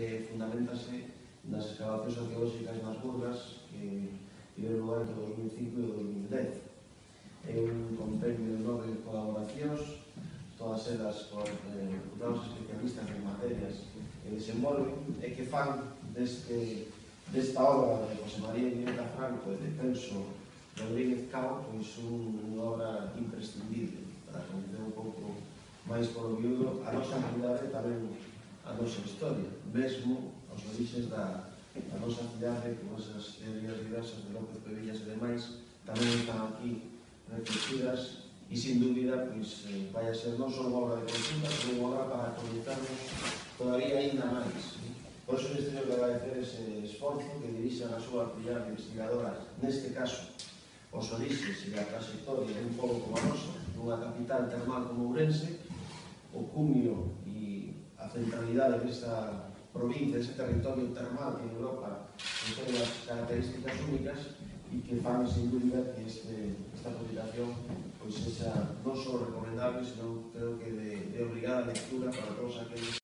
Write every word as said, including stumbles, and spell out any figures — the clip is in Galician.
que fundamentase nas excavacións arqueolóxicas nas Burgas que tiveron lugar entre o dos mil cinco e o dos mil dez. É un compendio de nove colaboracións, todas elas por eh, reputados especialistas en materias que desenvolven e que fan deste, desta obra de José María Iniesta Franco e de Celso Rodríguez Cao pois unha obra imprescindible para conocer un pouco máis polo viudo a nosa cidade e tamén a nosa historia, mesmo os orixes da, da nosa cidade, con esas teorías diversas de López Pevillas e demais, tamén están aquí reflexidas e, sin dúbida, pois, eh, vai a ser non só unha obra de consulta, pero unha obra para comunicarnos todavía ainda máis. Por iso, neste teño que agradecer ese esforzo que dirixan a súa actividade investigadora, neste caso, os orixes e a trayectoria dun pobo como a nosa, nunha capital termal como Ourense, o cumio e a centralidade desta provincia, deste territorio termal que en Europa ten as características únicas e que fan, sin dúvida, que este, esta publicación pois, sexa non só recomendable, senón creo que de, de obligada lectura para todos aqueles